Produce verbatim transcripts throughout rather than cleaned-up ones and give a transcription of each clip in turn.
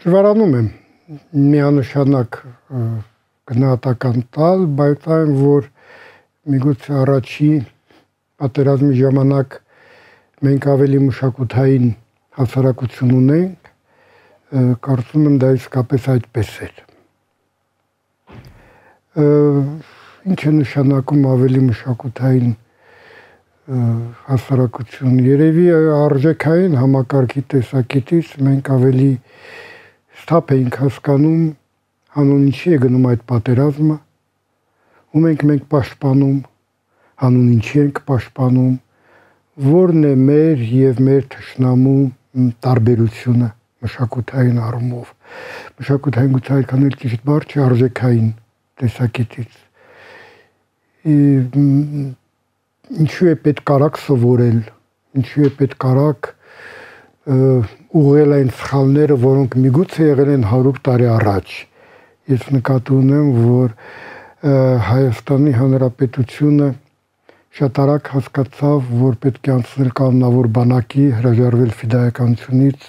Դժվարանում եմ միանշանակ գնահատական տալ, բայց այն, որ միգուցե առաջի պատերազմի ժամանակ մենք ավելի մշակութային հասարակություն ունենք, կարծում եմ դա իսկապես այդպես էր։ Ինչ է նշանակում ավելի մշակութային հասարակություն, երևի արժեքային համակարգի տեսակետից մենք ավելի սթափ էինք հասկանում, հանուն ինչի է գնում այդ պատերազմը, ում ենք մենք պաշտպանում, հանուն ինչի ենք պաշտպանում, որն է մեր եւ մեր թշնամու տարբերությունը մշակութային առումով։ Մշակութային գուցե այդքան էլ ճիշտ բառ չէ, արժեքային տեսակետից։ Ինչու է պետք արագ սովորել, ինչու է պետք արագ ուղղել այն սխալները, որոնք միգուցե եղել են հարյուր տարի առաջ։ Ես նկատի ունեմ, որ Հայաստանի Հանրապետությունը շատ արագ հասկացավ, որ պետք է անցնել կանոնավոր բանակի, հրաժարվել ֆիդայականությունից,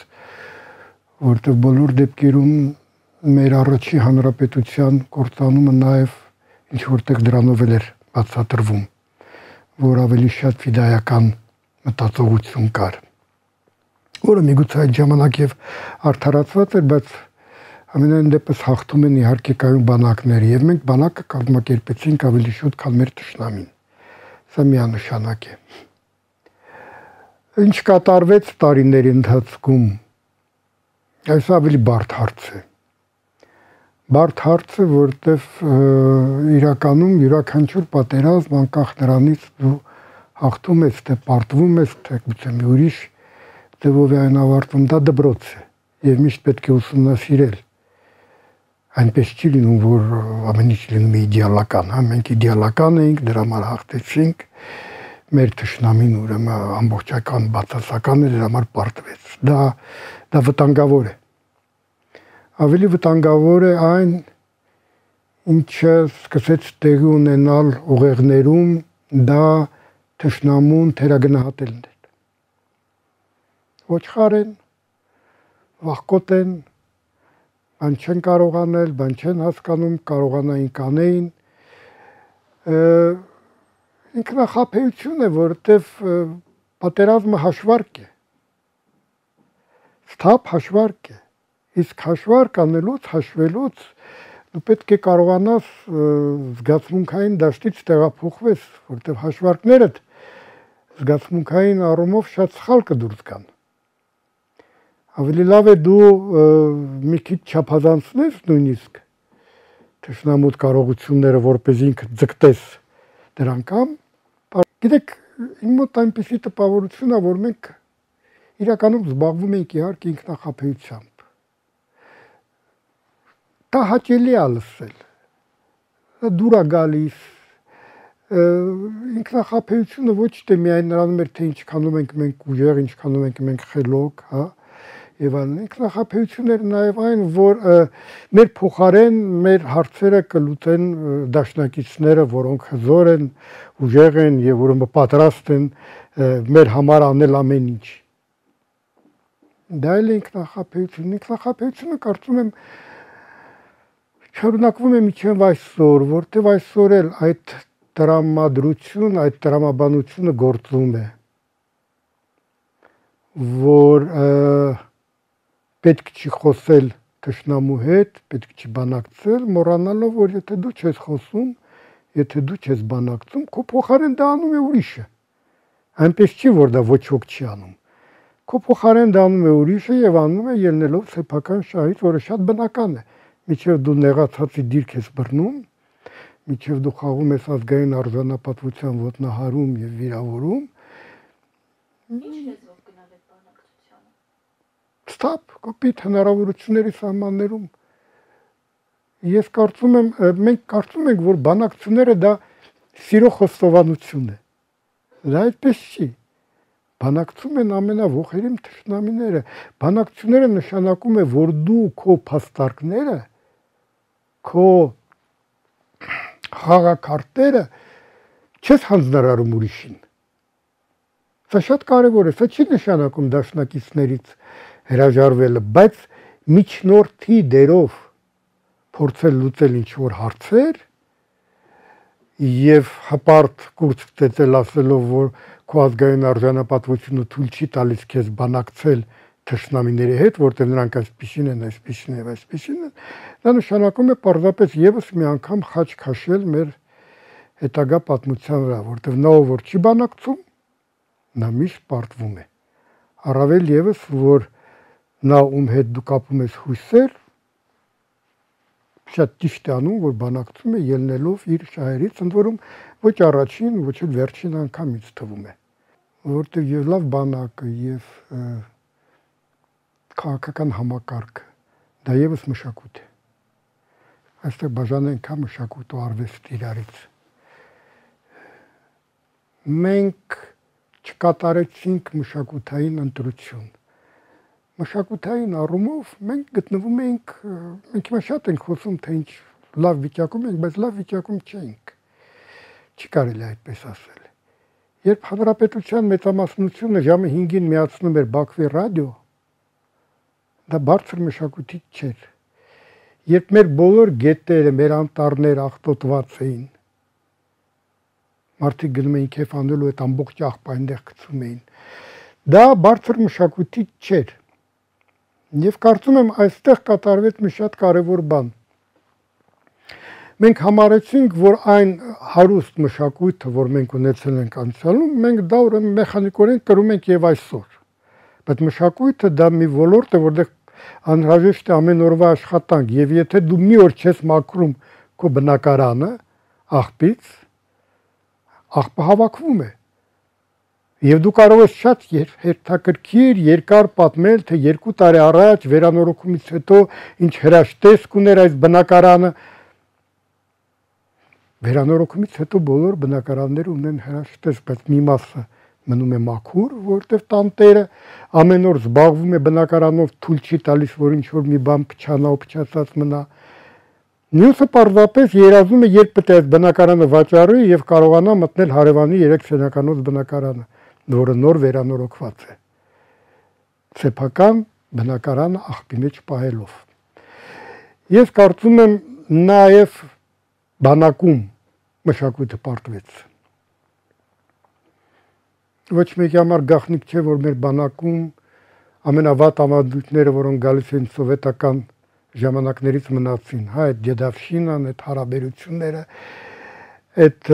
որտեղ բոլոր դեպքերում մեր առաջի հանրապետության կործանումը նաև ինչ որտեղ դրանով էլ էր բացատրվում, որ ավելի շատ ֆիդայական մտածողություն կար, որը միգուցե այդ ժամանակ եւ արդարացված էր, բայց ամենայն դեպս հաղթում են իհարկե կայուն բանակները եւ մենք բանակը կազմակերպեցինք ավելի շուտ, քան մեր թշնամին։ Սա միանշանակ է։ Ինչ կատարվեց տարիների ընթացքում, այս ավելի բարդ հարց է։ Բարդ հարց է, որտեղ իրականում յուրաքանչյուր պատերազմ անկախ նրանից դու հաղթում ես, թե պարտվում ես, թե գուցե մի ուրիշ ձևով է այն ավարտվում, դա դպրոց է եւ միշտ պետք է ուսումնասիրել։ Այնպես չի լինում, որ ամեն ինչ լինում է իդեալական, հա, մենք իդեալական էինք, դրա համար հաղթեցինք, մեր թշնամին ուրեմն ամբողջական բացասական է, դրա համար պարտվեց։ Դա դա վտանգավոր է։ Ավելի վտանգավոր է այն, ինչը սկսեց տեղի ունենալ ուղեղներում, դա թշնամուն թերագնահատելն է։ Ոչխար են, վախկոտ են, բան չեն կարող անել, բան չեն հասկանում, կարողանային կանեին։ Ինքնախաբեություն է, որովհետև պատերազմը հաշվարկ է, սթափ հաշվարկ է, իսկ հաշվարկ անելուց, հաշվելուց դու պետք է կարողանաս զգացմունքային դաշտից տեղափոխվես, որովհետև հաշվարկներդ զգացմունքային առումով շատ սխալ կդուրս գան։ Ավելի լավ է դու մի քիչ չափազանցնես նույնիսկ թշնամուտ կարողությունները, որպես ինքդ ձգտես դրան կամ գիտեք, իմ մոտ այնպիսի տպավորություն է, որ մենք իրականում զբաղվում ենք իհարկե ինքնախաբեությամբ։ Դա հաճելի է լսել, դա դուր է գալիս, ինքնախաբեությունը ոչ թե միայն նրանում էր, թե ինչքանում ենք մենք ուժեղ, ինչքանում ենք մենք խելոք, հա, եւ այլն, ինքնախաբեություն էր նաեւ այն, որ մեր փոխարեն մեր հարցերը կլուծեն դաշնակիցները, որոնք հզոր են, ուժեղ են եւ ուրեմն պատրաստ են մեր համար անել ամեն ինչ։ Դա էլ ինքնախաբեություն, ինքնախաբեությունը կարծում եմ շարունակվում է մինչև այսօր, որտեվ այսօր էլ այդ տրամադրություն, այդ տրամաբանությունը գործում է, որ պետք չի խոսել թշնամու հետ, պետք չի բանակցել, մոռանալով, որ եթե դու չես խոսում, եթե դու չես բանակցում, քո փոխարեն դա անում է ուրիշը։ Այնպես չի, որ դա ոչ ոք չի անում։ Քո փոխարեն դա անում է ուրիշը եւ անում է ելնելով սեփական շահից, որը շատ բնական է։ Միջև դու նեղացածի դիրք ես բռնում, միջև դու խաղում ես ազգային արժանապատվության ոտնահարում եւ վիրավորում։ Ստապ, կոպիտ հնարավորությունների սահմաններում։ Ես կարծում եմ, մենք կարծում ենք, որ բանակցությունները դա սիրո խոստովանություն է։ Դա այդպես չի։ Բանակցում են ամենավոխերիմ թշնամիները։ Բանակցությունները նշանակում է, որ դու քո փաստարկները, քո խաղակարտերը չես հանձնարարում ուրիշին։ Սա շատ կարևոր է, սա չի նշանակում դաշնակիցներից հրաժարվելը, բայց միջնորդի դերով փորձել լուծել ինչ-որ հարցեր եւ հպարտ կուրս ծեծել ասելով, որ քո ազգային արժանապատվությունը թույլ չի տալիս քեզ բանակցել թշնամիների հետ, որտեղ նրանք այսպիսին են, այսպիսին են, այսպիսին են, դա նշանակում է պարզապես եւս մի անգամ խաչ քաշել մեր հետագա պատմության վրա, որտեղ նա ով որ չի բանակցում, նա միշտ պարտվում է։ Առավել եւս, որ նա ում հետ դու կապում ես հույսեր, շատ ճիշտ է անում, որ բանակցում է ելնելով իր շահերից, ընդ որում ոչ առաջին, ոչ էլ վերջին անգամից թվում է, որտեղ եւ լավ բանակը եւ քաղաքական համակարգը դա եւս մշակույթ է։ Այստեղ բաժանենք հա մշակույթ ու արվեստ իրարից։ Մենք չկատարեցինք մշակութային ընտրություն։ Մշակութային առումով մենք գտնվում ենք, մենք հիմա շատ ենք խոսում, թե ինչ լավ վիճակում ենք, բայց լավ վիճակում չենք։ Չի կարելի այդպես ասել։ Երբ հանրապետության մեծամասնությունը ժամը հինգին միացնում էր Բաքվի ռադիո, դա բարձր մշակույթի չէր։ Երբ մեր բոլոր գետերը, մեր անտառները աղտոտված էին, մարդիկ գնում էին քեֆ անելու, այդ ամբողջ աղբը այնտեղ գցում էին, դա բարձր մշակույթի չէր։ Եվ կարծում եմ այստեղ կատարվեց մի շատ կարևոր բան։ Մենք համարեցինք, որ այն հարուստ մշակույթը, որ մենք ունեցել ենք անցյալում, մենք դա ուրեմն մեխանիկորեն կրում ենք եւ այսօր։ Բայց մշակույթը դա մի ոլորտ է, որտեղ անհրաժեշտ է ամեն օրվա աշխատանք, եւ եթե դու մի օր չես մաքրում քո բնակարանը աղբից, աղբը հավաքվում է։ Եվ դու կարող ես շատ հետաքրքիր երկար պատմել, թե երկու տարի առաջ վերանորոգումից հետո ինչ հրաշտեսք ուներ այս բնակարանը։ Վերանորոգումից հետո բոլոր բնակարանները ունեն հրաշտեսք, բայց մի մասը մնում է մաքուր, որտեղ տանտերը ամեն օր զբաղվում է բնակարանով, թույլ չի տալիս, որ ինչ-որ մի բան փչանա ու փչացած մնա։ Մյուսը պարզապես երազում է, երբ պետք է այս բնակարանը վաճառի եւ կարողանա մտնել հարևանի երեք սենյականոց բնակարանը, որը նոր վերանորոգված է։ Սեփական բնակարանը աղբի մեջ պահելով։ Ես կարծում եմ նաեւ բանակում մշակույթը պարտվեց։ Ոչ մեկի համար գաղտնիք չէ, որ մեր բանակում ամենավատ ավանդույթները, որոնք գալիս են սովետական ժամանակներից մնացին, հա, այդ դեդավշինան, այդ հարաբերությունները, այդ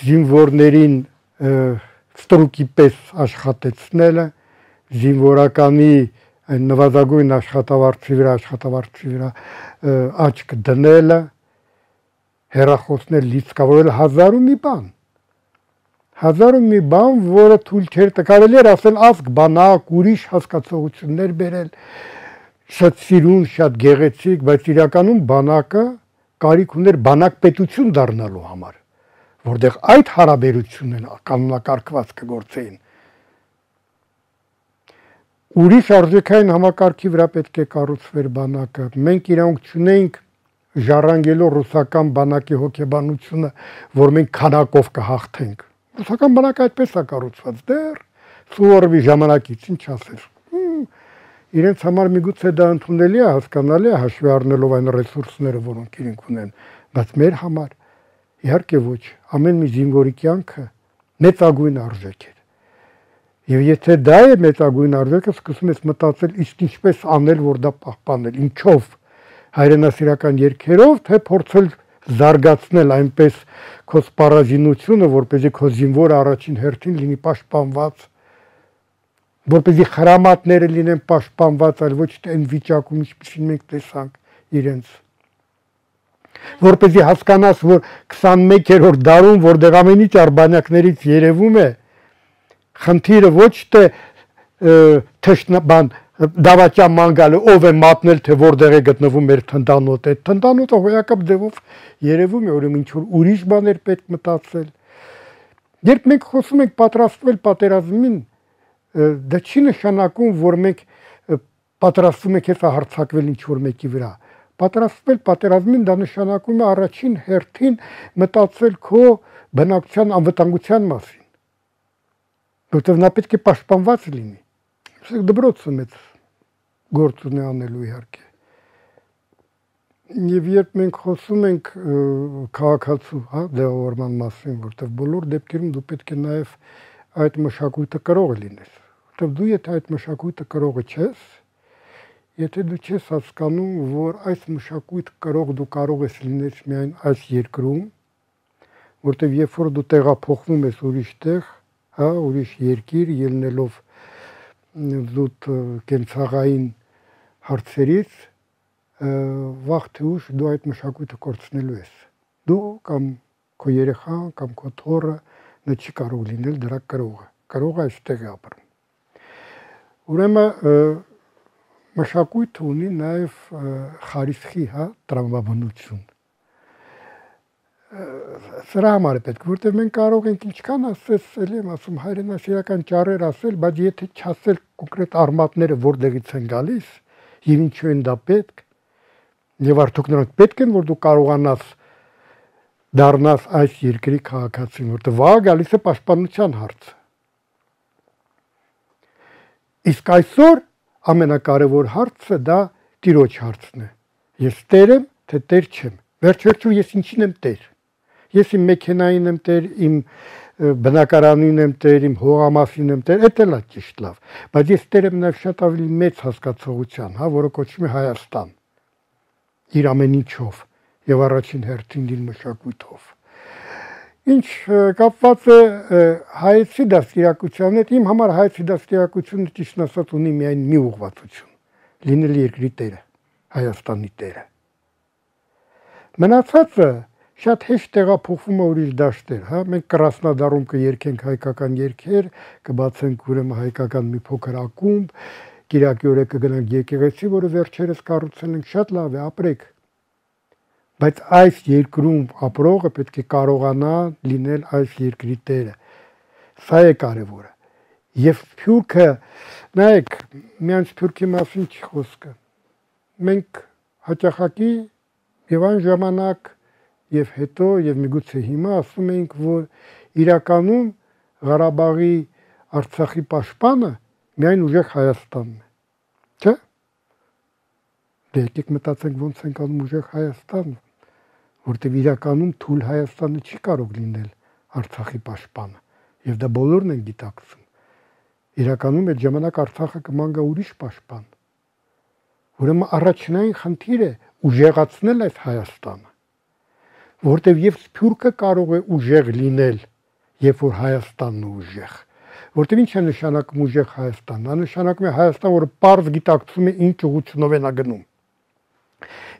զինվորներին ստրուկի պես աշխատեցնելը, զինվորականի այն նվազագույն աշխատավարձի վրա, աշխատավարձի վրա աչք դնելը, հեռախոսներ լիցքավորել հազար ու մի բան։ Հազար ու մի բան, որը թույլ չէր տալիս էր ասել ազգ բանակ, ուրիշ հասկացողություններ բերել, շատ սիրուն, շատ գեղեցիկ, բայց իրականում բանակը կարիք ուներ բանակ պետություն դառնալու համար, որտեղ այդ հարաբերությունն կանոնակարգվածքը գործեին։ Ուրիշ արժեքային համակարգի վրա պետք է կառուցվեր բանակը։ Մենք իրանք չունենք ժառանգելով ռուսական բանակի հոգեբանությունը, որ մենք քանակով կհաղթենք։ Ռուսական բանակը այդպես է կառուցված, դեռ Սուվորովի ժամանակից, ինչ ասել։ Իրենց համար միգուցե դա ընդունելի է, հասկանալի է, հաշվի առնելով այն ռեսուրսները, որոնք իրենք ունեն, բայց մեր համար իհարկե ոչ, ամեն մի զինվորի կյանքը մեծագույն արժեք է։ Եվ եթե դա է մեծագույն արժեքը, սկսում ես մտածել, իսկ ինչպես անել, որ դա պահպանել, ինչով, հայրենասիրական երգերով, թե փորձել զարգացնել այնպես քո սպառազինությունը, որպեսզի քո զինվորը առաջին հերթին լինի պաշտպանված, որպեսզի խրամատները լինեն պաշտպանված, այլ ոչ թե այն վիճակում, ինչպիսին մենք տեսանք իրենց։ Որպեսզի հասկանաս, որ քսանմեկերորդ դարում, որտեղ ամեն ինչ արբանյակներից երևում է, խնդիրը ոչ թե թշնամական դավաճան մանգալը ով է մատնել, թե որտեղ է գտնվում մեր թնդանոթը, այդ թնդանոթը հոյակապ ձևով երևում է, ուրեմն ինչ որ ուրիշ բաներ պետք մտածել։ Երբ մենք խոսում ենք պատրաստվել պատերազմին, դա չի նշանակում, որ մենք պատրաստվում ենք հեսա հարձակվել ինչ որ մեկի վրա։ Պատրաստվել պատերազմին դա նշանակում է առաջին հերթին մտածել քո բնակության անվտանգության մասին։ որտեղ նա պետք է պաշտպանված լինի։ Իսկ դպրոցը մեծ գործ ունի անելու իհարկե։ Եվ երբ մենք խոսում ենք քաղաքացու, հա, ձևավորման մասին, որտեղ բոլոր դեպքերում դու պետք է նաև այդ մշակույթը կրողը լինես, որտեղ դու եթե այդ մշակույթը կրողը չես, եթե դու չես հասկանում, որ այս մշակույթ կրող դու կարող ես լինես միայն այս երկրում, որտեղ երբ որ դու տեղափոխվում ես ուրիշ տեղ, հա, ուրիշ երկիր, ելնելով զուտ կենցաղային հարցերից, վաղ թե ուշ դու այդ մշակույթը կորցնելու ես։ Դու կամ քո երեխան կամ քո թոռը նա չի կարող լինել դրա կրողը։ Կրողը այստեղ է ապրում։ Ուրեմն մշակույթը ունի նաև խարիսխի, հա, տրամաբանություն։ Սրա համար է պետք, որտեղ մենք կարող ենք ինչքան ասես, էլի եմ ասում, հայրենասիրական ճառեր ասել, բայց եթե չասել կոնկրետ արմատները որտեղից են գալիս եւ ինչու են դա պետք, եւ արդյոք նրանք պետք են, որ դու կարողանաս դառնաս այս երկրի քաղաքացին, որտեղ վաղ գալիս է պաշտպանության հարցը։ Իսկ այսօր ամենակարևոր հարցը դա տիրոջ հարցն է։ Ես տեր եմ, թե տեր չեմ։ Վերջ-վերջում ես ինչին եմ տեր։ Ես իմ մեքենային եմ տեր, իմ բնակարանին եմ տեր, իմ հողամասին եմ տեր, դա էլ է ճիշտ լավ, բայց ես տեր եմ նաև շատ ավելի մեծ հասկացողության, հա, որը կոչվում է Հայաստան։ Իր ամեն ինչով եւ առաջին հերթին իր մշակույթով։ Ինչ կապված է հայեցի դաստիարակության հետ, իմ համար հայեցի դաստիարակությունը ճիշտ ասած ունի միայն մի ուղղվածություն՝ լինել երկրի տերը, Հայաստանի տերը։ Մնացածը շատ հեշտ տեղափոխվում է ուրիշ դաշտեր, հա, մենք Կրասնոդարում կերքենք հայկական երգեր, կբացենք ուրեմն հայկական մի փոքր ակումբ, Կիրակի օրը կգնանք եկեղեցի, որը վերջերս կառուցել ենք, շատ լավ է, ապրեք։ Բայց այս երկրում ապրողը պետք է կարողանա լինել այս երկրի տերը։ Սա է կարևորը։ Եվ Սփյուռքը, նայեք, միայն Սփյուռքի մասին չի խոսքը։ Մենք հաճախակի եւ այն ժամանակ եւ հետո եւ միգուցե հիմա ասում ենք, որ իրականում Ղարաբաղի Արցախի պաշտպանը միայն ուժեղ Հայաստանն է, չէ՞։ Դե եկեք մտածենք ոնց ենք անում ուժեղ Հայաստանը, որտեղ իրականում թույլ Հայաստանը չի կարող լինել Արցախի պաշտպանը, եւ դա բոլորն են գիտակցում։ Իրականում այդ ժամանակ Արցախը կման գա ուրիշ պաշտպան։ Ուրեմն առաջնային խնդիրը ուժեղացնել այդ Հայաստանը, որտեղ եւ Սփյուռքը կարող է ուժեղ լինել, երբ որ Հայաստանն է ուժեղ։ Որտեղ ինչ է նշանակում ուժեղ Հայաստան, նա նշանակում է Հայաստան, որը պարզ գիտակցում է ինչ ուղղությունով է նա գնում։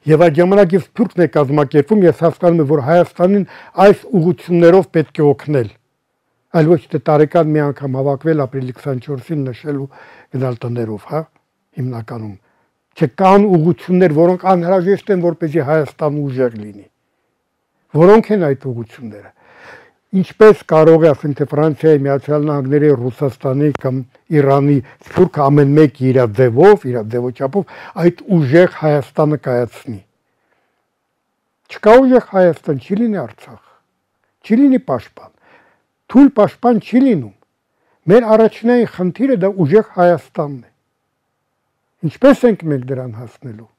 Եվ այդ ժամանակ եւ Սփյուռքն է կազմակերպում, ես հասկանում եմ, որ Հայաստանին այս ուղղություններով պետք է օգնել, այլ ոչ թե տարեկան մի անգամ հավաքվել ապրիլի քսանչորսին նշելու գնալ տներով, հա, հիմնականում։ Չկան ուղղություններ, որոնք անհրաժեշտ են, որպեսզի Հայաստանը ուժեղ լինի։ Որոնք են այդ ուղղությունները։ Ինչպես կարող է ասենք թե Ֆրանսիայի, Միացյալ Նահանգների, Ռուսաստանի կամ Իրանի Սփյուռքը ամեն մեկ իր ձևով, իր ձևոչափով այդ ուժեղ Հայաստանը կայացնի։ Չկա ուժեղ Հայաստան, չի լինի Արցախ, չի լինի պաշտպան, թույլ պաշտպան չի լինում։ Մեր առաջնային խնդիրը դա ուժեղ Հայաստանն է։ Ինչպես ենք մենք դրան հասնելու։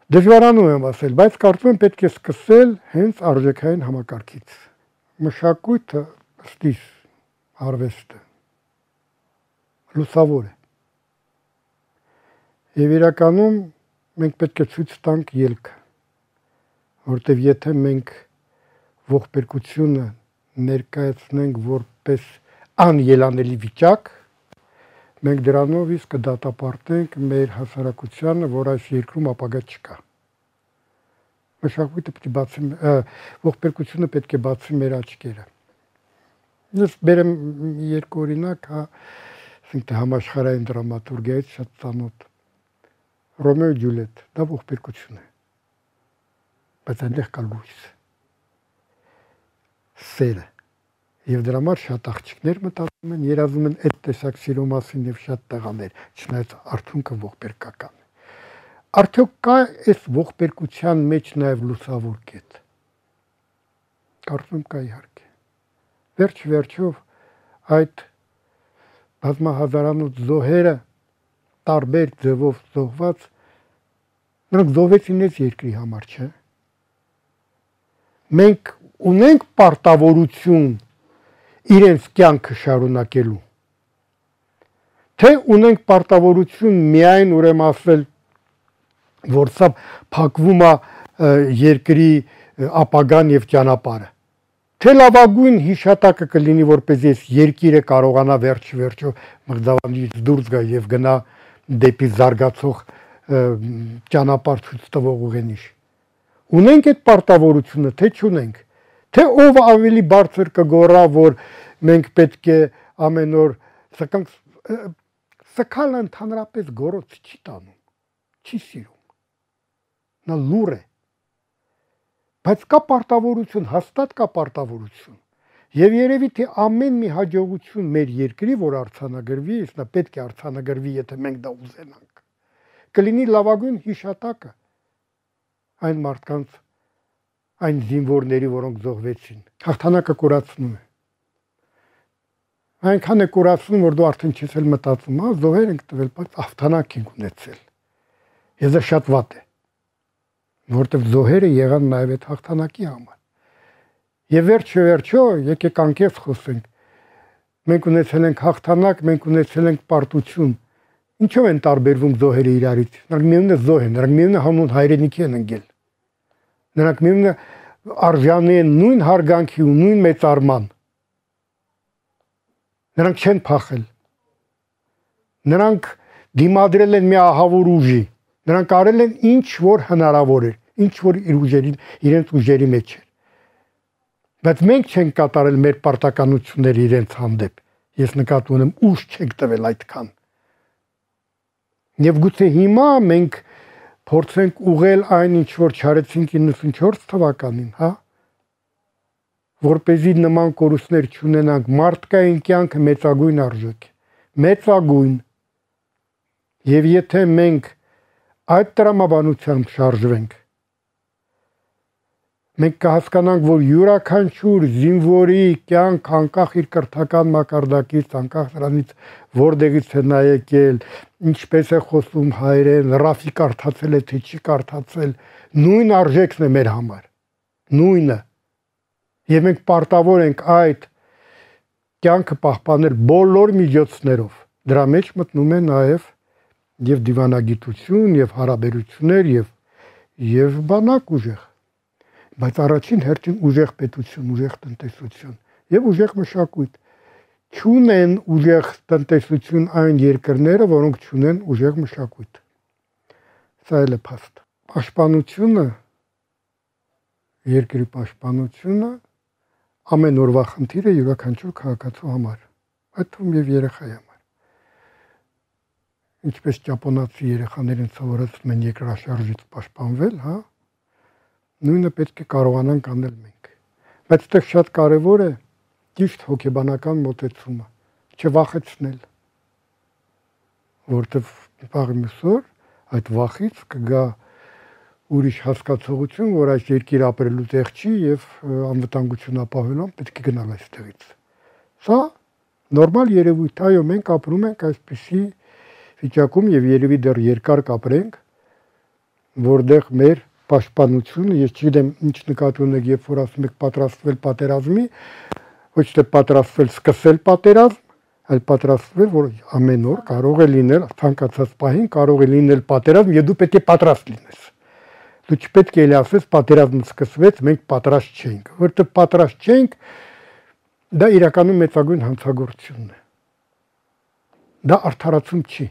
Դժվարանում եմ ասել, բայց կարծում եմ պետք է սկսել հենց արժեքային համակարգից։ Մշակույթը, ըստիս, արվեստը լուսավոր է։ Եվ իրականում մենք պետք է ցույց տանք ելքը, որտեղ եթե մենք ողբերգությունը ներկայացնենք որպես անելանելի վիճակ, մենք դրանով իսկ կդատապարտենք մեր հասարակությանը, որ այս երկրում ապագա չկա։ Մշակույթը պետք է բացի, ողբերգությունը պետք է բացի մեր աչքերը։ Ես բերեմ երկու օրինակ, հա, ասենք թե համաշխարհային դրամատուրգիայից շատ ծանոթ։ Ռոմեո ու Ջուլիետ, դա ողբերգություն է։ Բայց այնտեղ կա լույս։ Սերը։ Եվ դրա համար շատ աղջիկներ մտածում են, երազում են այդ տեսակ սիրո մասին եւ շատ տղաներ, չնայած արդյունքը ողբերգական է։ Արդյոք կա այս ողբերգության մեջ նաեւ լուսավոր կետ։ Կարծում կա իհարկե։ Վերջ վերջով այդ բազմահազարանոց զոհերը տարբեր ձևով զոհված, նրանք զոհվեցին այս երկրի համար, չէ։ Մենք ունենք պարտավորություն իրենց կյանքը շարունակելու, թե ունենք պարտավորություն միայն ուրեմն ասել, որ սա փակվում է երկրի ապագան եւ ճանապարհը, թե լավագույն հիշատակը կլինի, որպեսզի այս երկիրը կարողանա վերջ-վերջո մղձավանջից դուրս գա եւ գնա դեպի զարգացող ճանապարհ ցույց տվող ուղենիշ։ Ունենք այդ պարտավորությունը, թե չունենք, թե ով ավելի բարձր կգոռա, որ մենք պետք է ամեն օր սկանք սկալը ընդհանրապես գոռոց չի տանում, չի սիրում, նա լուր է, բայց կա պարտավորություն, հաստատ կա պարտավորություն, եւ երևի թե ամեն մի հաջողություն մեր երկրի, որ արձանագրվի, նա պետք է արձանագրվի, եթե մենք դա ուզենանք, կլինի լավագույն հիշատակը այն մարդկանց, այն զինվորների, որոնք զոհվեցին, հաղթանակը կորացնում է։ Այնքան է կորացնում, որ դու արդեն չես էլ մտածում, հա, զոհեր ենք տվել, բայց հաղթանակ ենք ունեցել։ Եվ դա շատ վատ է, որտեղ զոհերը եղան նաև այդ հաղթանակի համար։ Եվ վերջը վերջո, եկեք անկեղծ խոսենք, մենք ունեցել ենք հաղթանակ, մենք ունեցել ենք պարտություն։ Ինչով են տարբերվում զոհերը իրարից։ Նրանք միևնույն է զոհ են, նրանք միևնույն է հանուն հայրենիքի են ընկել։ Նրանք միևնույն է արժանի են նույն հարգանքի ու նույն մեծարման։ Նրանք չեն փախել։ Նրանք դիմադրել են մի ահավոր ուժի։ Նրանք արել են ինչ որ հնարավոր էր, ինչ որ իր ուժերի, իրենց ուժերի մեջ էր։ Բայց մենք չենք կատարել մեր պարտականությունները իրենց հանդեպ։ Ես նկատի ունեմ ուժ չենք տվել այդքան։ Եվ գուցե հիմա մենք փորձենք ուղղել այն, ինչ որ չարեցինք իննսունչորս թվականին, հա, որպեսզի նման կորուստներ չունենանք, մարդկային կյանքը մեծագույն արժեք է, մեծագույն։ Եվ եթե մենք այդ տրամաբանությամբ շարժվենք, մենք կհասկանանք, որ յուրաքանչյուր զինվորի կյանք անկախ իր կրթական մակարդակից, անկախ նրանից որտեղից է նա եկել, ինչպես է խոսում հայերեն, ռաֆի կարդացել է, թե չի կարդացել, նույն արժեքն է մեր համար, նույնը։ Եվ մենք պարտավոր ենք այդ կյանքը պահպանել բոլոր միջոցներով։ Դրա մեջ մտնում է նաև եւ դիվանագիտություն, եւ հարաբերություններ, եւ եւ բանակ ուժեղ։ Բայց առաջին հերթին ուժեղ պետություն, ուժեղ տնտեսություն եւ ուժեղ մշակույթ։ Չունեն ուժեղ տնտեսություն այն երկրները, որոնք չունեն ուժեղ մշակույթ։ Սա էլ է փաստ։ Պաշտպանությունը, երկրի պաշտպանությունը ամեն օրվա խնդիր է յուրաքանչյուր քաղաքացու համար, այդ թվում եւ երեխայի համար։ Ինչպես ճապոնացի երեխաներին սովորեցնում են երկրաշարժից պաշտպանվել, հա, նույնը պետք է կարողանանք անել մենք։ Բայց այդտեղ շատ կարևոր է ճիշտ հոգեբանական մոտեցումը, չվախեցնել, որտեղ վաղ մյուսօր այդ վախից կգա ուրիշ հասկացողություն, որ այս երկիր ապրելու տեղ չի եւ անվտանգություն ապահովելուն պետք է գնալ այստեղից։ Սա նորմալ երևույթ է, այո, մենք ապրում ենք այսպիսի վիճակում եւ երևի դեռ երկար կապրենք, որտեղ մեր պաշտպանությունը, ես չգիտեմ ինչ նկատի ունեք, երբ որ ասում եք պատրաստվել պատերազմի, ոչ թե պատրաստվել սկսել պատերազմ, այլ պատրաստվել, որ ամեն օր կարող է լինել, ցանկացած պահին կարող է լինել պատերազմ, եւ դու պետք է պատրաստ լինես։ Դու չպետք է ասես պատերազմը սկսվեց, մենք պատրաստ չենք, որտեղ պատրաստ չենք, դա իրականում մեծագույն հանցագործություն է։ Դա արդարացում չի։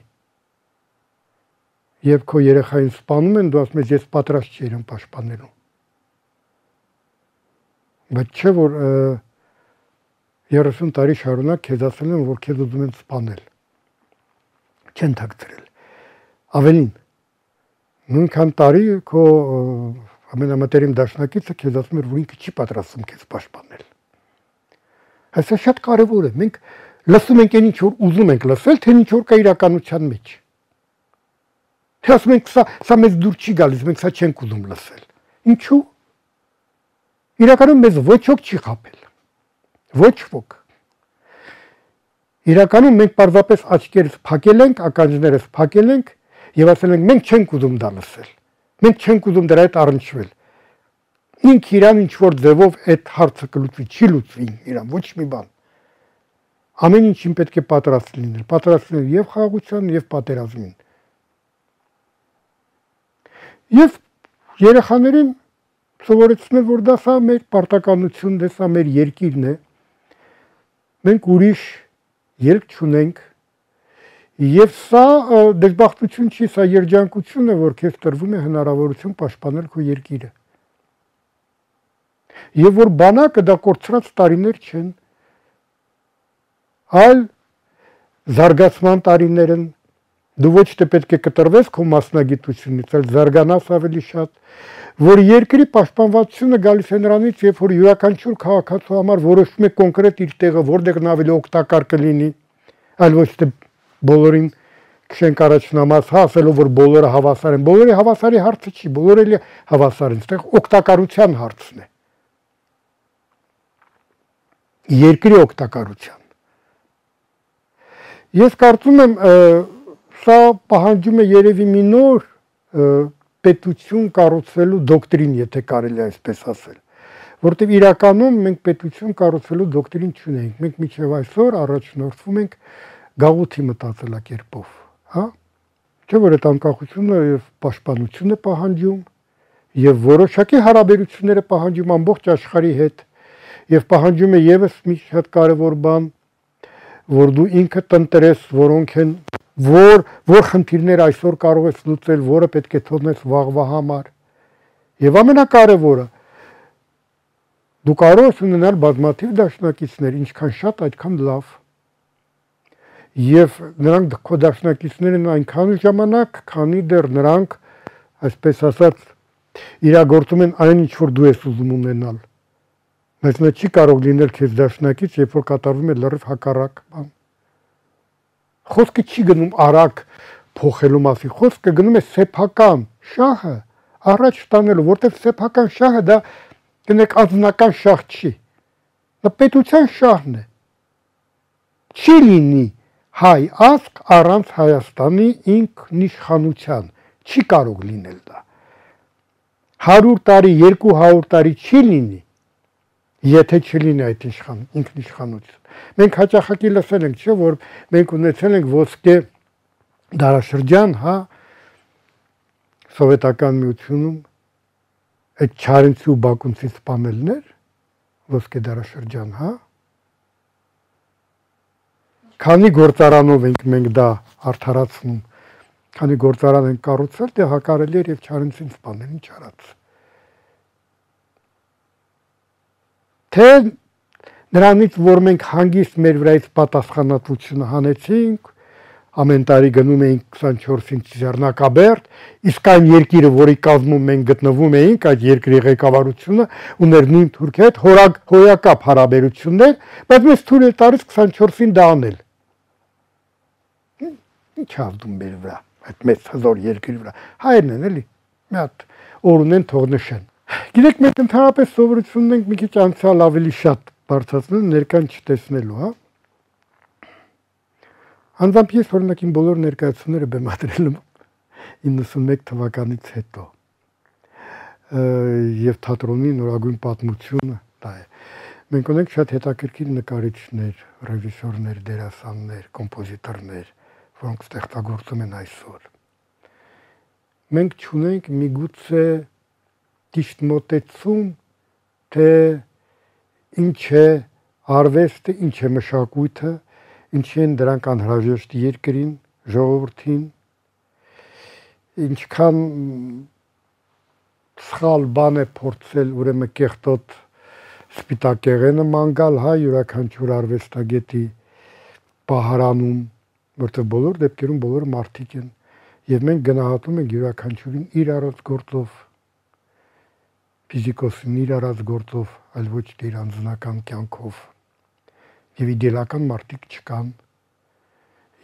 Եվ քո երեխային սպանում են, դու ասում ես, ես պատրաստ չէի իրեն պաշտպանելու։ Բայց չէ, որ երեսուն տարի շարունակ քեզ ասել են, որ քեզ ուզում են սպանել։ Չեն թաքցրել։ Ավելին, նույնքան տարի քո ամենամտերիմ դաշնակիցը քեզ ասում էր, որ ինքը չի պատրաստվում քեզ պաշտպանել։ Այսա շատ կարևոր է։ Մենք լսում ենք այն ինչ որ ուզում ենք լսել, թե ինչ որ կա իրականության մեջ։ Թե ասում ենք սա սա մեզ դուր չի գալիս, մենք սա չենք ուզում լսել։ Ինչու՞։ Իրականում մեզ ոչ ոք չի խաբել։ Ոչ ոք։ Իրականում մենք պարզապես աչքերս փակել ենք, ականջներս փակել ենք եւ ասել ենք մենք չենք ուզում դա լսել։ Մենք չենք ուզում դրա հետ առնչվել։ Ինք իրան ինչ որ ձևով այդ հարցը կլուծվի, չի լուծվի իրան, ոչ մի բան։ Ամեն ինչին պետք է պատրաստ լինել, պատրաստ լինել եւ խաղաղության, եւ պատերազմին։ Եվ երեխաներին սովորեցնել, որ դա սա մեր պարտականությունն է, սա մեր երկիրն է։ Մենք ուրիշ ելք չունենք եւ սա դժբախտություն չի, սա երջանկություն է, որ քեզ տրվում է հնարավորություն պաշտպանել քո երկիրը։ Եվ որ բանակը դա կորցրած տարիներ չեն, այլ զարգացման տարիներ են, դու ոչ թե պետք է կտրվես քո մասնագիտությունից, այլ զարգանաս ավելի շատ, որ երկրի պաշտպանվածությունը գալիս է նրանից, երբ որ յուրաքանչյուր քաղաքացու համար որոշվում է կոնկրետ իր տեղը, որտեղն ավելի օգտակար կլինի, այլ ոչ թե բոլորին քշենք առաջնամաս, հա, ասելով որ բոլորը հավասար են, բոլորի հավասարի հարցը չի, բոլորը էլի հավասար են, այստեղ օգտակարության հարցն է։ Երկրի օգտակարության։ Ես կարծում եմ, սա պահանջում է երևի մի նոր պետություն կառուցելու դոկտրին, եթե կարելի է այսպես ասել, որտեղ իրականում մենք պետություն կառուցելու դոկտրին չունենք, մենք մինչև այսօր առաջնորդվում ենք գաղութի մտածելակերպով, հա, չէ՞ որ այդ անկախությունը եւ պաշտպանությունը պահանջում եւ որոշակի հարաբերությունները պահանջում ամբողջ աշխարհի հետ եւ պահանջում է եւս մի շատ կարեւոր բան, որ դու ինքդ ընտրես, որոնք են որ որ խնդիրներ այսօր կարող ես լուծել, որը պետք է թողնես վաղվա համար։ Եվ ամենակարևորը, դու կարող ես ունենալ բազմաթիվ դաշնակիցներ, ինչքան շատ, այդքան լավ։ Եվ նրանք քո դաշնակիցներն այնքան ժամանակ, քանի դեռ նրանք, այսպես ասած, իրագործում են այն, ինչ որ դու ես ուզում ունենալ։ Բայց նա չի կարող լինել քեզ դաշնակից, երբ որ կատարվում է լրիվ հակառակ բան։ Խոսքը չի գնում արագ փոխելու մասին, խոսքը գնում է սեփական շահը առաջ տանելու, որտեղ սեփական շահը դա կնեք անձնական շահ չի։ Դա պետության շահն է։ Չի լինի հայ ազգ առանց Հայաստանի ինքնիշխանության, չի կարող լինել դա։ հարյուր տարի, երկու հարյուր տարի չի լինի, եթե չլինի այդ ինքնիշխանություն։ Մենք հաճախակի լսել ենք, չէ, որ մենք ունեցել ենք ոսկե դարաշրջան, հա, սովետական միությունում, այդ Չարենցի ու Բակունցի սպանելներ, ոսկե դարաշրջան, հա։ Քանի գործարանով ենք մենք դա արդարացնում, քանի գործարան ենք կառուցել, դե հակարելի էր եւ Չարենցին սպանել, ինչ արած։ Թե նրանից, որ մենք հանգիստ մեր վրայից պատասխանատվությունը հանեցինք, ամեն տարի գնում էինք քսանչորսին Ձեռնակաբերդ, իսկ այն երկիրը, որի կազմում մենք գտնվում էինք, այդ երկրի ղեկավարությունը ուներ նույն Թուրքիայի հետ հոյակապ հարաբերություններ, բայց մեզ թույլ է տալիս քսանչորսին դա անել։ Ինչ ազդում մեր վրա, այդ մեծ հզոր երկրի վրա։ Հայերն են էլի, մի հատ օր ունեն, թող նշեն։ Գիտեք, մենք ընդհանրապես սովորություն ունենք մի քիչ անցյալ ավելի շատ բարձրացնել, ներկան չտեսնելու, հա։ Անձամբ ես օրինակ իմ բոլոր ներկայացումները բեմադրել եմ իննսունմեկ թվականից հետո։ Եվ թատրոնի նորագույն պատմությունը դա է։ Մենք ունենք շատ հետաքրքիր նկարիչներ, ռեժիսորներ, դերասաններ, կոմպոզիտորներ, որոնք ստեղծագործում են այսօր։ Մենք չունենք միգուցե ճիշտ մոտեցում, թե ինչ է արվեստը, ինչ է մշակույթը, ինչ են դրանք անհրաժեշտ երկրին, ժողովրդին, ինչքան սխալ բան է փորձել ուրեմն կեղտոտ սպիտակեղենը մանգալ, հա, յուրաքանչյուր արվեստագետի պահարանում, որտեղ բոլոր դեպքերում բոլորը մարդիկ են, եւ մենք գնահատում ենք յուրաքանչյուրին իր առած գործով, ֆիզիկոսին իր առած գործով, այլ ոչ թե իր անձնական կյանքով, եւ իդեալական մարդիկ չկան,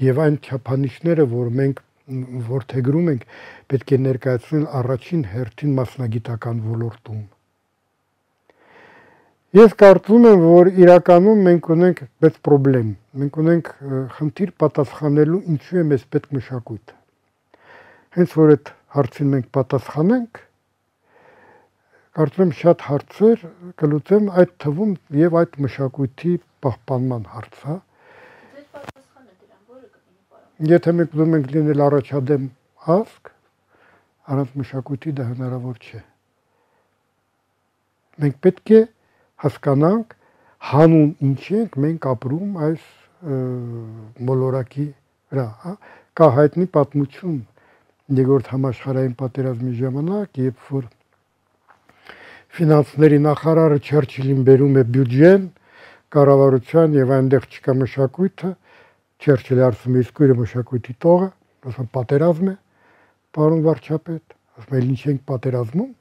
եւ այն չափանիշները, որ մենք որդեգրում ենք, պետք է ներկայացնել առաջին հերթին մասնագիտական ոլորտում։ Ես կարծում եմ, որ իրականում մենք ունենք մեծ խնդրեմ, մենք ունենք խնդիր պատասխանելու ինչու է մեզ պետք մշակույթը։ Հենց որ այդ հարցին մենք պատասխանենք, կարծում եմ շատ հարցեր կլուծեմ, այդ թվում եւ այդ մշակույթի պահպանման հարցը։ Ձեր պատասխանը դրան որը կլինի պարոն։ Եթե մենք ուզում ենք լինել առաջադեմ ազգ, առանց մշակույթի դա հնարավոր չէ։ Մենք պետք է հասկանանք հանուն ինչ ենք մենք ապրում այս մոլորակի վրա, հա, կա հայտնի պատմություն երկրորդ համաշխարհային պատերազմի ժամանակ, երբ որ ֆինանսների նախարարը Չերչիլին բերում է բյուջեն, կառավարության եւ այնտեղ չկա մշակույթը, Չերչիլը ասում է իսկ ուրը մշակույթի տողը, ասում պատերազմ է, պարոն վարչապետ, ասում է ինչ ենք պատերազմում,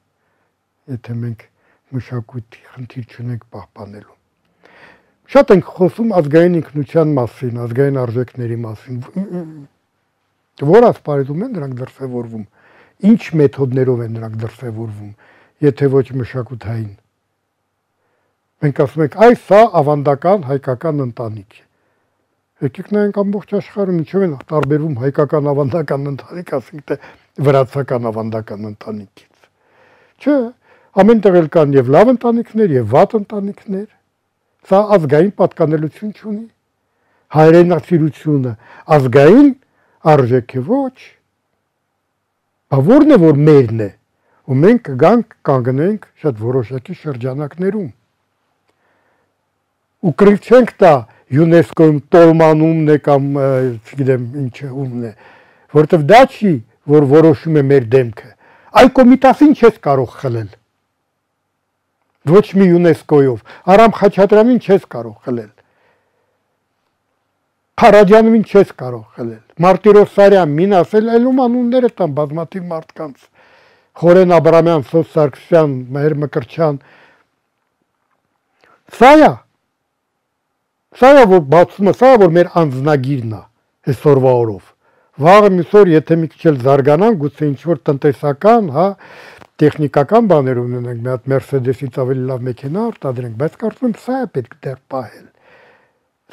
եթե մենք մշակույթի խնդիր չունենք պահպանելու։ Շատ ենք խոսում ազգային ինքնության մասին, ազգային արժեքների մասին։ Որ ասպարեզում են նրանք դրսևորվում, ինչ մեթոդներով են նրանք դրսևորվում, եթե ոչ մշակութային։ Մենք ասում ենք, այս սա ավանդական հայկական ընտանիք է։ Եկեք նայենք ամբողջ աշխարհում ինչով են տարբերվում հայկական ավանդական ընտանիք, ասենք թե վրացական ավանդական ընտանիքից։ Չէ, ամեն տեղ էլ կան եւ լավ ընտանիքներ եւ վատ ընտանիքներ։ Սա ազգային պատկանելություն չունի։ Հայրենասիրությունը ազգային արժեք է ոչ։ Բա որն է որ մերն է, ու մենք կգանք կանգնենք շատ որոշակի շրջանակներում։ Ու կրիվ չենք տա ՅՈՒՆԵՍԿՕ-ում տոլմանումն է կամ չգիտեմ ինչը ումն է, որովհետեւ դա չի, որ որոշում է մեր դեմքը։ Այ կոմիտասին չես կարող խլել։ Ոչ մի ՅՈՒՆԵՍԿՕ-ով, Արամ Խաչատրյանին չես կարող խլել։ Փարաջանովին չես կարող խլել։ Մարտիրոս Սարյան, մին ասել, այլում անունները տան բազմաթիվ մարդկանց։ Խորեն Աբրամյան, Սոս Սարգսյան, Մհեր Մկրտչյան։ Սա է։ Սա է որ բացումը, սա է որ մեր անձնագիրն է այսօրվա օրով։ Վաղը միսօր եթե մի քիչ էլ զարգանան, գուցե ինչ որ տնտեսական, հա, տեխնիկական բաներ ունենենք, մի հատ Mercedes-ից ավելի լավ մեքենա արտադրենք, բայց կարծում եմ սա է պետք դեռ պահել։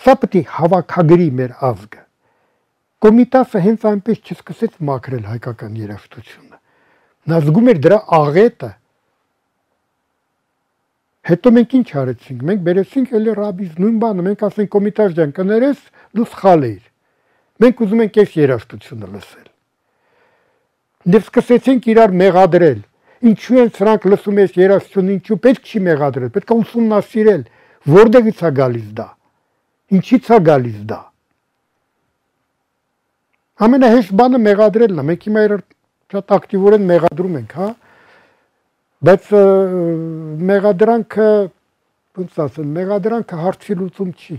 Սա պետք է հավաքագրի մեր ազգը։ Կոմիտասը հենց այնպես չսկսեց մաքրել հայկական երաժշտությունը։ Նա զգում էր դրա աղետը։ Հետո մենք ինչ արեցինք։ Մենք բերեցինք էլի ռաբից նույն բանը, մենք ասենք Կոմիտաս ջան, կներես, դու սխալ ես։ Մենք ուզում ենք այս երաժշտությունը լսել։ Դեռ սկսեցինք իրար մեղադրել։ Ինչու են սրանք լսում ես երաժշտություն, ինչու պետք չի մեղադրել, պետք է ուսումնասիրել, որտեղից է գալիս դա։ Ինչից է գալիս դա։ Ամենահեշտ բանը մեղադրելն է, մենք հիմա իրար շատ ակտիվորեն մեղադրում ենք, հա։ Բայց մեղադրանքը, ոնց ասեմ, մեղադրանքը հարցի լուծում չի։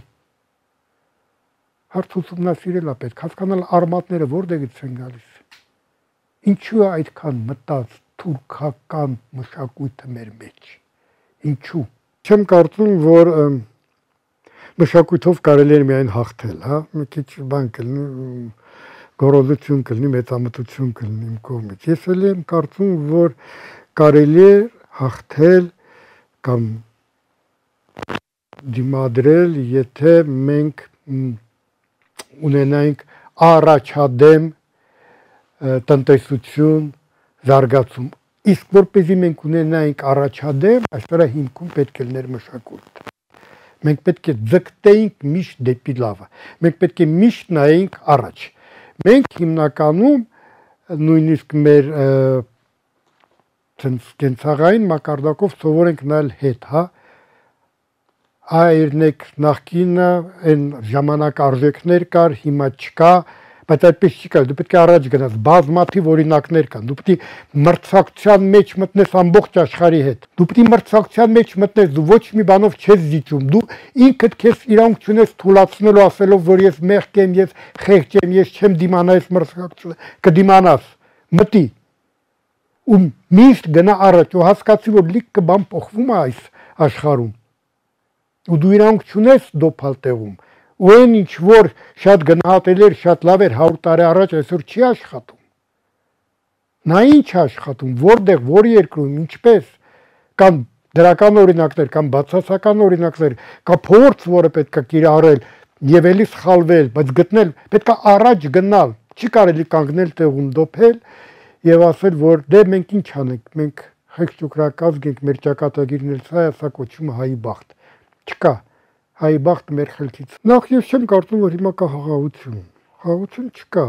Հարց ուսումնասիրել է պետք, հասկանալ արմատները որտեղից են գալիս։ Ինչու է այդքան մտած թուրքական մշակույթը մեր մեջ։ Ինչու։ Չեմ կարծում, որ մշակույթով կարելի է միայն հաղթել, հա, մի քիչ բան կլինի, գոռոզություն կլինի, մեծամտություն կլինի իմ կողմից։ Ես էլ եմ կարծում, որ կարելի է հաղթել կամ դիմադրել, եթե մենք ունենայինք առաջադեմ տնտեսություն, զարգացում։ Իսկ որպեսզի մենք ունենայինք առաջադեմ, այսօր հիմքում պետք է լիներ մշակույթ։ Մենք պետք է ձգտեինք միշտ դեպի լավը։ Մենք պետք է միշտ նայենք առաջ։ Մենք հիմնականում նույնիսկ մեր կենցաղային մակարդակով սովոր ենք նայել հետ, հա։ Այրնեք նախկինը այն ժամանակ արժեքներ կար, հիմա չկա, բայց այդպես չի կար, դու պետք է առաջ գնաս, բազմաթիվ օրինակներ կան, դու պետք է մրցակցության մեջ մտնես ամբողջ աշխարհի հետ, դու պետք է մրցակցության մեջ մտնես, դու ոչ մի բանով չես զիջում, դու ինքդ քեզ իրանք չունես թուլացնելու ասելով, որ ես մեղք եմ, ես խեղճ եմ, ես չեմ դիմանա այս մրցակցությունը, կդիմանաս, մտի ու միշտ գնա առաջ ու հասկացի, որ լիքը բան փոխվում է այս աշխարհում։ Ու դու իրանք չունես դոփալ տեղում։ Ու այն ինչ որ շատ գնահատել էր, շատ լավ էր հարյուր տարի առաջ, այսօր չի աշխատում։ Նա ինչ աշխատում, որտեղ, որ երկրում, ինչպես, կամ դրական օրինակներ կամ բացասական օրինակներ, կա փորձ, որը պետք է կիրառել եւ էլի սխալվել, բայց գտնել, պետք է առաջ գնալ, չի կարելի կանգնել տեղում դոփել եւ ասել, որ դե մենք ինչ անենք, մենք խեղճուկրակազգ ենք, մեր ճակատագիրն սա է, սա կոչվում հայի բախտ։ Չկա, հայի բախտ մեր խելքից։ Նախ ես չեմ կարծում, որ հիմա կա խաղաղություն։ Խաղաղություն չկա։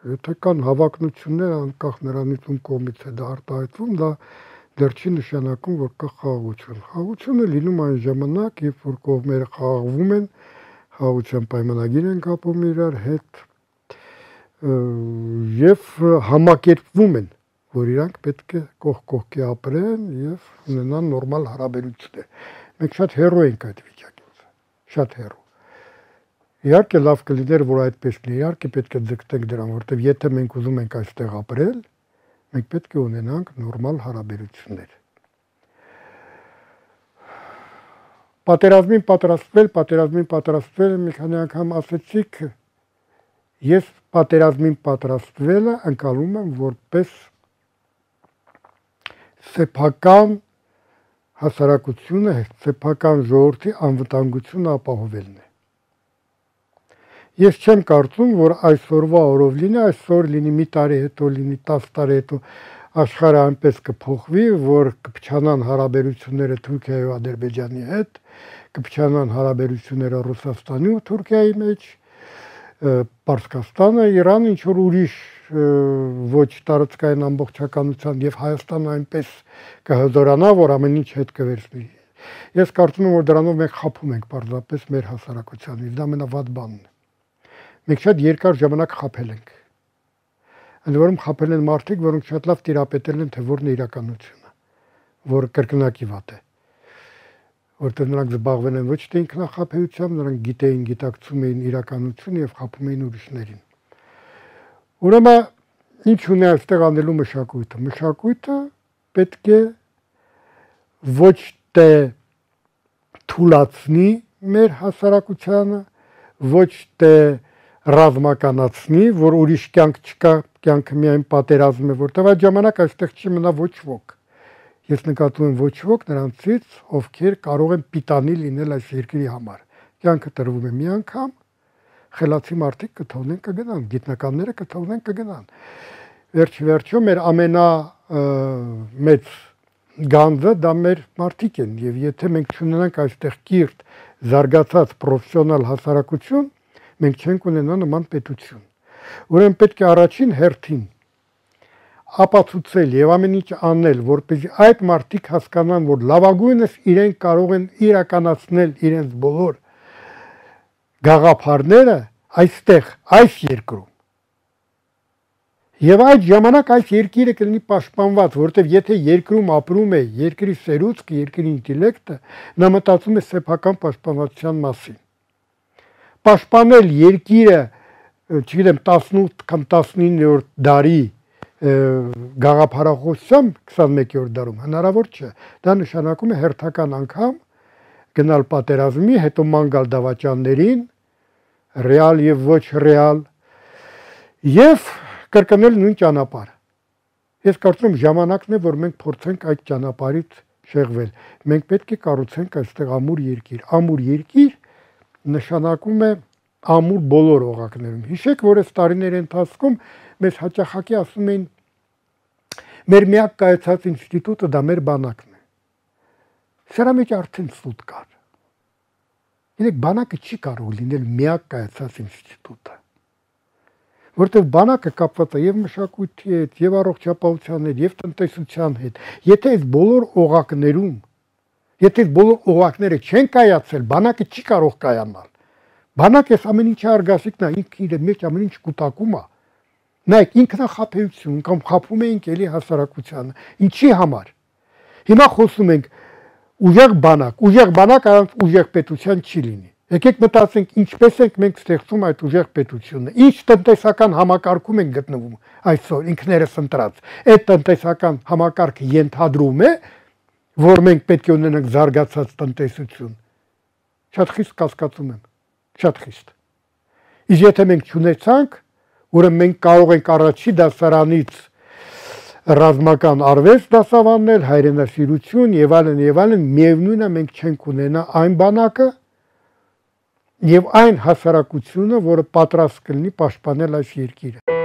Եթե կան հավակնություններ, անկախ նրանից ում կողմից է դա արտահայտվում, դա դեռ չի նշանակում, որ կա խաղաղություն։ Խաղաղությունը լինում այն ժամանակ, երբ որ կողմերը խաղաղվում են, խաղաղության պայմանագիր են կապում իրար հետ եւ համակերպվում են, որ իրանք պետք է կողք կողքի ապրեն եւ ունենան նորմալ հարաբերություններ։ Մենք շատ հեռու ենք այդ վիճակից, շատ հեռու։ Իհարկե լավ կլիներ, որ այդպես լինի, իհարկե պետք է ձգտենք դրան, որովհետև եթե մենք ուզում ենք այստեղ ապրել, մենք պետք է ունենանք նորմալ հարաբերություններ։ Պատերազմին պատրաստվել, պատերազմին պատրաստվել, մի քանի անգամ ասեցիք, ես պատերազմին պատրաստվելը ընկալում եմ որպես սեփական հասարակությունը, սեփական ժողովրդի անվտանգությունը ապահովելն է։ Ես չեմ կարծում, որ այսօրվա օրով լինի, այսօր լինի մի տարի հետո, լինի տասը տարի հետո աշխարհը այնպես կփոխվի, որ կփչանան հարաբերությունները Թուրքիայի ու Ադրբեջանի հետ, կփչանան հարաբերությունները Ռուսաստանի ու Թուրքիայի մեջ, Պարսկաստանը, Իրանը, ինչ որ ուրիշ ոչ տարածքային ամբողջականության եւ Հայաստանը այնպես կհզորանա, որ ամեն ինչ հետ կվերցնի։ Ես կարծում եմ, որ դրանով մենք խափում ենք պարզապես մեր հասարակությանից, դա ամենավատ բանն է։ Մենք շատ երկար ժամանակ խափել ենք։ Ընդ որում խափել են մարդիկ, որոնք շատ լավ տիրապետել են, թե որն է իրականությունը, որը կրկնակի վատ է։ Որտեղ նրանք զբաղվել են ոչ թե ինքնախաբեությամբ, նրանք գիտեին, գիտակցում էին իրականությունը եւ խափում էին ուրիշներին։ Ուրեմն ինչ ունի այստեղ անելու մշակույթը։ Մշակույթը պետք է ոչ թե թուլացնի մեր հասարակությանը, ոչ թե ռազմականացնի, որ ուրիշ կյանք չկա, կյանքը միայն պատերազմ է, որտեղ այդ ժամանակ այստեղ չի մնա ոչ ոք։ Ես նկատում եմ ոչ ոք նրանցից, ովքեր կարող են պիտանի լինել այս երկրի համար։ Կյանքը տրվում է մի անգամ, խելացի մարդիկ կթողնեն կգնան, գիտնականները կթողնեն կգնան։ Վերջի վերջո մեր ամենա մեծ գանձը դա մեր մարդիկ են, եւ եթե մենք չունենանք այստեղ կիրթ, զարգացած պրոֆեսիոնալ հասարակություն, մենք չենք ունենա նման պետություն։ Ուրեմն պետք է առաջին հերթին ապացուցել եւ ամեն ինչ անել, որպեսզի այդ մարդիկ հասկանան, որ լավագույնս իրենք կարող են իրականացնել իրենց բոլոր գաղափարները այստեղ, այս երկրում։ Եվ այդ ժամանակ այս երկիրը կլինի պաշտպանված, որովհետև եթե երկրում ապրում է երկրի սերուցքը, երկրի ինտելեկտը, նա մտածում է սեփական պաշտպանվածության մասին։ Պաշտպանել երկիրը, չգիտեմ, տասնութ կամ տասնիններորդ դարի գաղափարախոսությամբ քսանմեկերորդ դարում հնարավոր չէ։ Դա նշանակում է հերթական անգամ գնալ պատերազմի, հետո ման գալ դավաճաններին, ռեալ եւ ոչ ռեալ, եւ կրկնել նույն ճանապարհը։ Ես կարծում եմ ժամանակն է, որ մենք փորձենք այդ ճանապարհից շեղվել։ Մենք պետք է կառուցենք այստեղ ամուր երկիր։ Ամուր երկիր նշանակում է ամուր բոլոր օղակներում։ Հիշեք, որ այս տարիների ընթացքում մեզ հաճախակի ասում էին, մեր միակ կայացած ինստիտուտը դա մեր բանակն է։ Սրա մեջ արդեն սուտ կար։ Գիտեք, բանակը չի կարող լինել միակ կայացած ինստիտուտը։ Որտեղ բանակը կապված է եւ մշակույթի հետ, եւ առողջապահության հետ, եւ տնտեսության հետ։ Եթե այս բոլոր օղակներում, եթե այս բոլոր օղակները չեն կայացել, բանակը չի կարող կայանալ։ Բանակը ամեն ինչի արգասիքն է, ինքը իր մեջ ամեն ինչ կուտակում է։ Նայեք, ինքնախաբեություն կամ խափում ենք էլի հասարակությանը։ Ինչի համար։ Հիմա խոսում ենք ուժեղ բանակ, ուժեղ բանակ առանց ուժեղ պետության չի լինի։ Եկեք մտածենք, ինչպես ենք մենք ստեղծում այդ ուժեղ պետությունը, ինչ տնտեսական համակարգում ենք գտնվում այսօր ինքներս ընտրած։ Այդ տնտեսական համակարգը ենթադրում է, որ մենք պետք է ունենանք զարգացած տնտեսություն։ Շատ խիստ կասկածում եմ, շատ խիստ։ Իսկ եթե մենք չունեցանք, ուրեմն մենք կարող ենք առաջի դասարանից ռազմական արվեստ դասավանդել, հայրենասիրություն եւ այլն եւ այլն, միևնույնն է մենք չենք ունենա այն բանակը եւ այն հասարակությունը, որը պատրաստ կլինի պաշտպանել այս երկիրը։